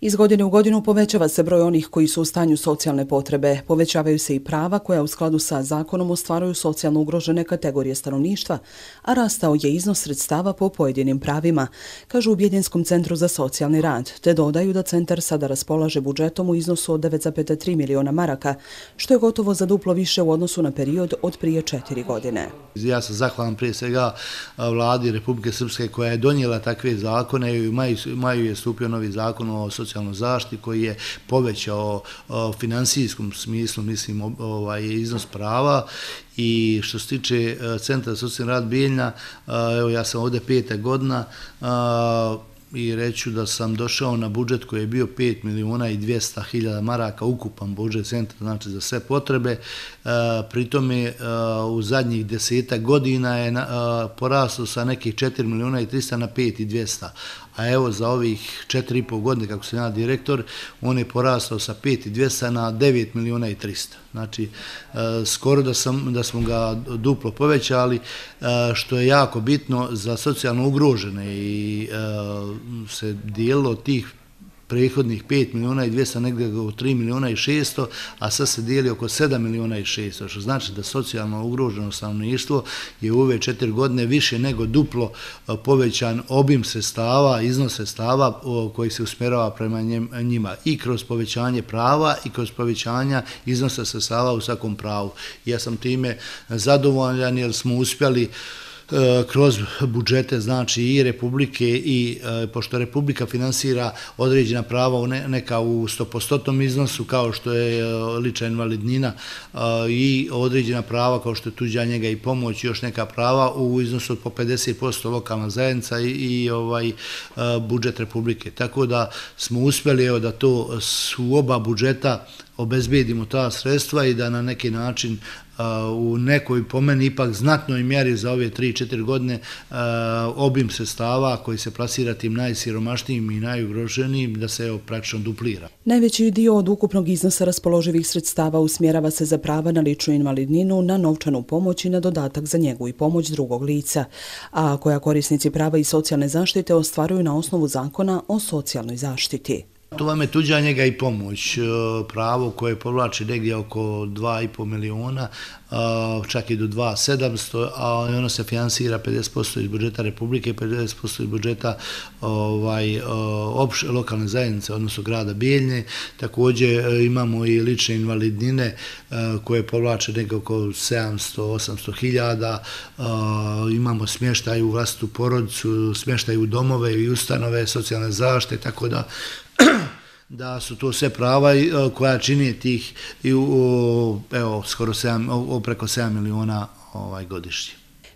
Iz godine u godinu povećava se broj onih koji su u stanju socijalne potrebe. Povećavaju se i prava koja u skladu sa zakonom ostvaruju socijalno ugrožene kategorije stanovništva, a rastao je iznos sredstava po pojedinim pravima, kažu u Bijeljenskom centru za socijalni rad, te dodaju da centar sada raspolaže budžetom u iznosu od 9,3 miliona maraka, što je gotovo za duplo više u odnosu na period od prije 4 godine. Ja sam zahvalan prije svega vladi Republike Srpske koja je donijela takve zakone i u maju je stupio novi zakon o socijalnoj zaštiti koji je povećao u finansijskom smislu, mislim, iznos prava. I što se tiče Centra za socijalni rad Bijeljina, evo ja sam ovdje 5. godina i reću da sam došao na budžet koji je bio 5 miliona i 200 hiljada maraka, ukupan budžet centra, znači za sve potrebe. Pritome u zadnjih 10 godina je poraslo sa nekih 4 miliona i 300 na 5 i 200. A evo za ovih 4,5 godine, kako sam ja direktor, on je porastao sa 5 i 200 na 9 miliona i 300. Znači, skoro da smo ga duplo povećali, što je jako bitno za socijalno ugrožene i se dijelilo tih prethodnih 5 miliona i 200 negdje u 3 miliona i 600, a sad se dijeli oko 7 miliona i 600, što znači da socijalno ugroženo stanovništvo je u ove 4 godine više nego duplo povećan obim sredstava, iznos sredstava koji se usmjerava prema njima i kroz povećanje prava i kroz povećanja iznosa sredstava u svakom pravu. Ja sam time zadovoljan jer smo uspjeli kroz budžete, znači i Republike i pošto Republika finansira određena prava neka u 100% iznosu kao što je lična invalidnina i određena prava kao što je tuđa njega i pomoć i još neka prava u iznosu od po 50% lokalna zajednica i budžet Republike. Tako da smo uspjeli da to su oba budžeta obezbedimo ta sredstva i da na neki način u nekoj po meni ipak znatnoj mjeri za ove 3-4 godine obim sredstava koji se plasira tim najsiromašnijim i najugroženijim da se praktično duplira. Najveći dio od ukupnog iznosa raspoloživih sredstava usmjerava se za prava na ličnu invalidninu, na novčanu pomoć i na dodatak za njegu i pomoć drugog lica, a koja korisnici prava i socijalne zaštite ostvaruju na osnovu zakona o socijalnoj zaštiti. To vam je tuđa njega i pomoć, pravo koje povlači negdje oko 2,5 miliona, čak i do 2,700, a ono se finansira 50% iz budžeta Republike, 50% iz budžeta lokalne zajednice, odnosno grada Bijeljine. Također imamo i lične invalidnine koje povlače negdje oko 700-800 hiljada, imamo smještaj u vlastitu porodicu, smještaj u domove i ustanove socijalne zaštite, tako da su to sve prava koja čini tih skoro preko 7 miliona godišnje.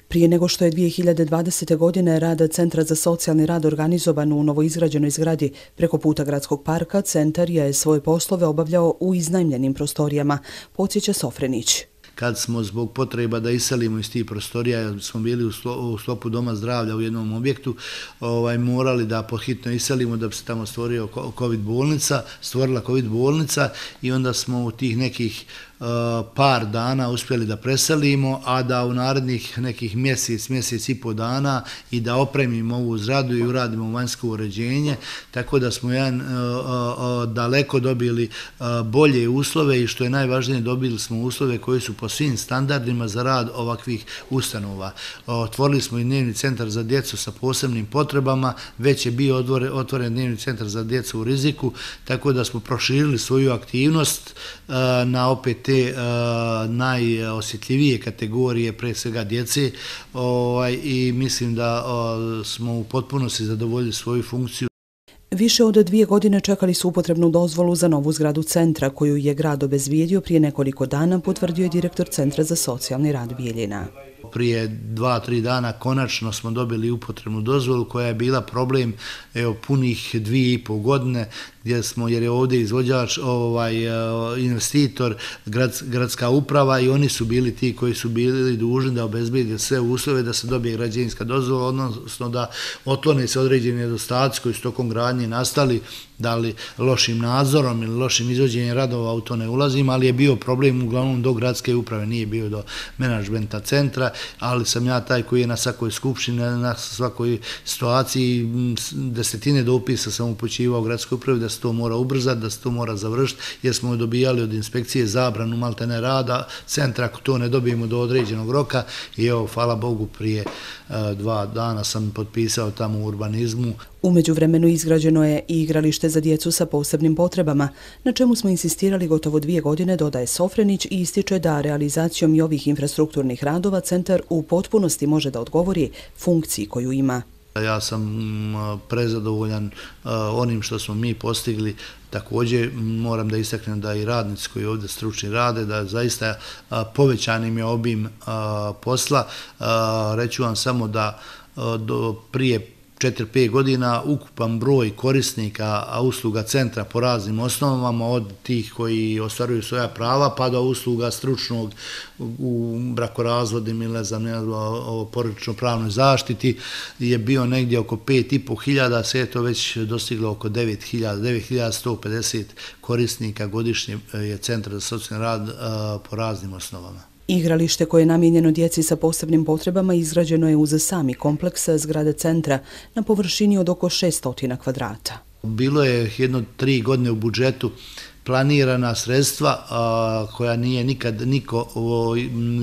Prije nego što je 2020. godine rad Centra za socijalni rad organizovan u novoizgrađenoj zgradi preko puta Gradskog parka, centar je svoje poslove obavljao u iznajmljenim prostorijama, podsjeća Sofrenić. Kad smo zbog potreba da iselimo iz tih prostorija, jer smo bili u sklopu Doma zdravlja u jednom objektu, morali da pohitno iselimo da bi se tamo stvorila COVID bolnica i onda smo u tih nekih par dana uspjeli da preselimo, a da u narednih nekih mjesec i pol dana i da opremimo ovu zgradu i uradimo vanjsko uređenje, tako da smo daleko dobili bolje uslove i što je najvažnije, dobili smo uslove koji su po svim standardima za rad ovakvih ustanova. Otvorili smo i dnevni centar za djecu sa posebnim potrebama, već je bio otvoren dnevni centar za djecu u riziku, tako da smo proširili svoju aktivnost na opet te najosjetljivije kategorije, pre svega djece, i mislim da smo u potpunosti zadovoljili svoju funkciju. Više od 2 godine čekali su upotrebnu dozvolu za novu zgradu centra, koju je grad obezbijedio prije nekoliko dana, potvrdio je direktor Centra za socijalni rad Bijeljina. Prije 2-3 dana konačno smo dobili upotrebnu dozvolu koja je bila problem punih 2,5 godine jer je ovdje izvođač, investitor, gradska uprava i oni su bili ti koji su bili dužni da obezbede sve uslove da se dobije građevinska dozvola, odnosno da otklone se određeni nedostaci koji su tokom gradnje nastali, da li lošim nadzorom ili lošim izvođenjem radova, u to ne ulazim, ali je bio problem uglavnom do gradske uprave, nije bio do menadžmenta centra, ali sam ja taj koji je na svakoj skupštini, na svakoj situaciji, desetine dopisa sam upućivao gradskoj upravi da se to mora ubrzati, da se to mora završiti, jer smo dobijali od inspekcije zabranu maltene rada centra ako to ne dobijemo do određenog roka i evo, hvala Bogu, prije 2 dana sam potpisao tamo u urbanizmu. U međuvremenu izgrađeno je i igralište za djecu sa posebnim potrebama, na čemu smo insistirali gotovo 2 godine, dodaje Sofrenić i ističe da realizacijom i ovih infrastrukturnih radova centar u potpunosti može da odgovori funkciji koju ima. Ja sam prezadovoljan onim što smo mi postigli. Također moram da istaknem da i radnici koji ovdje stručni rade, da zaista povećan im je obim posla. Reću vam samo da prije 4-5 godina ukupan broj korisnika usluga centra po raznim osnovama, od tih koji ostvaruju svoja prava pa do usluga stručnog u brakorazvodim ili o porodično-pravnoj zaštiti, je bio negdje oko 5.500, sve je to već dostiglo oko 9.150 korisnika godišnje je centar za socijalni rad po raznim osnovama. Igralište koje je namijenjeno djeci sa posebnim potrebama izgrađeno je uz sami kompleks zgrade centra na površini od oko 600 kvadrata. Bilo je jedno 3 godine u budžetu planirana sredstva koja nije nikad niko,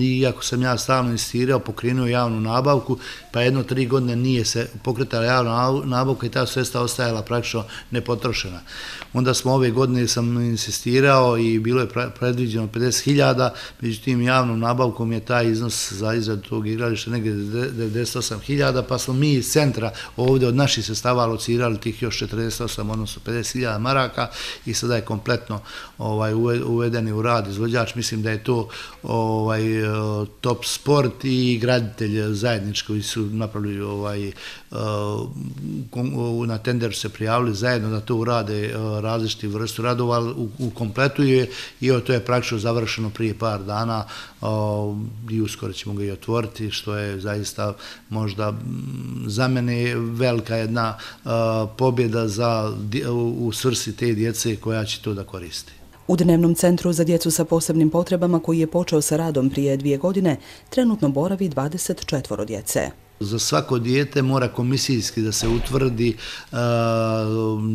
iako sam ja stalno insistirao, pokrenuo javnu nabavku, pa jedno 3 godine nije se pokretala javna nabavka i ta sredstva ostajala praktično nepotrošena. Onda smo ove godine sam insistirao i bilo je predviđeno 50.000, međutim javnom nabavkom je taj iznos za izradu tog igrališta negdje 98.000, pa smo mi iz centra ovdje od naših sredstava alocirali tih još 48, odnosno 50.000 maraka i sada je kompletno uvedeni u rad izvođač. Mislim da je to Top Sport i graditelj zajednički koji su napravili na tenderu se prijavili zajedno da to urade različiti vrstu radova, u kompletu je i to je praktično završeno prije par dana i uskoro ćemo ga i otvoriti, što je zaista možda za mene velika jedna pobjeda u svrsi te djece koja će to da koristi. U Dnevnom centru za djecu sa posebnim potrebama, koji je počeo sa radom prije 2 godine, trenutno boravi 24 djece. Za svako dijete mora komisijski da se utvrdi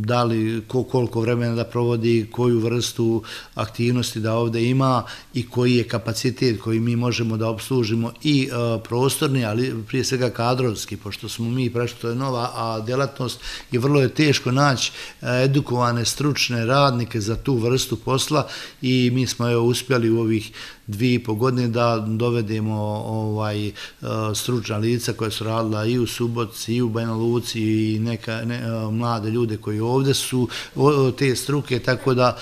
da li koliko vremena da provodi, koju vrstu aktivnosti da ovdje ima i koji je kapacitet koji mi možemo da obslužimo i prostorni, ali prije svega kadrovski, pošto smo mi prešli, to je nova djelatnost i vrlo je teško naći edukovane stručne radnike za tu vrstu posla i mi smo uspjeli u ovih 2,5 godine da dovedemo stručna lica koja su radila i u Subotici i u Banja Luci i mlade ljude koji ovdje su te struke, tako da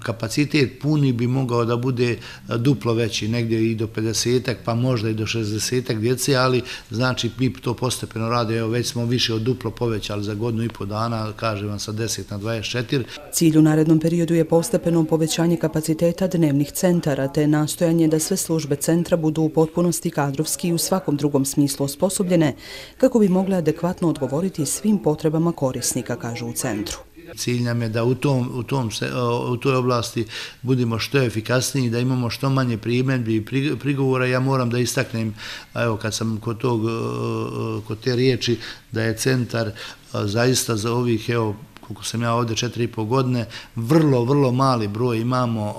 kapacitet puni bi mogao da bude duplo veći, negdje i do 50, pa možda i do 60 djece, ali znači mi to postepeno rade, evo već smo više od duplo povećali za 1,5 dana, kažem vam sa 10 na 24. Cilj u narednom periodu je postepeno povećanje kapaciteta dnevnih centara te nastojanje da sve službe centra budu u potpunosti kadrovski i u svakom drugom smislu osposobljene kako bi mogle adekvatno odgovoriti svim potrebama korisnika, kažu u centru. Cilj nam je da u toj oblasti budemo što efikasniji, da imamo što manje primjedbi i prigovora. Ja moram da istaknem, evo kad sam kod te riječi, da je centar zaista za ovih, evo, koliko sam ja ovdje 4,5 godine, vrlo mali broj imamo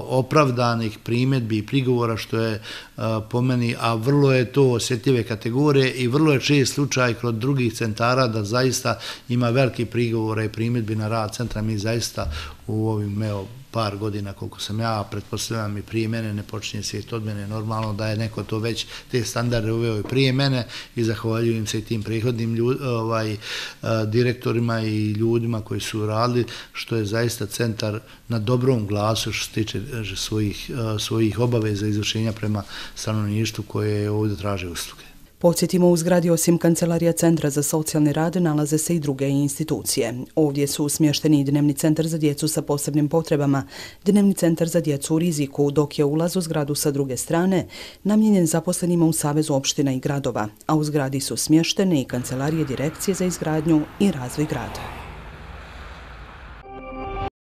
opravdanih primjedbi i prigovora, što je po meni, a vrlo je to osjetljive kategorije i vrlo je čest slučaj kod drugih centara da zaista ima veliki prigovora i primjedbi na rad centra. Mi zaista u ovim par godina, koliko sam ja, pretpostavljam i prije mene, ne počinje svijet od mene, normalno da je neko to već te standarde uveo i prije mene i zahvaljujem se i tim prethodnim direktorima i ljudima koji su radili, što je zaista centar na dobrom glasu što se tiče svojih obaveza izvršenja prema stanovništvu koje ovdje traže usluge. Podsjetimo, u zgradi osim Kancelarija Centra za socijalni rad nalaze se i druge institucije. Ovdje su smješteni Dnevni centar za djecu sa posebnim potrebama, Dnevni centar za djecu u riziku, dok je ulaz u zgradu sa druge strane namijenjen zaposlenima u Savezu opština i gradova, a u zgradi su smještene i Kancelarije Direkcije za izgradnju i razvoj grada.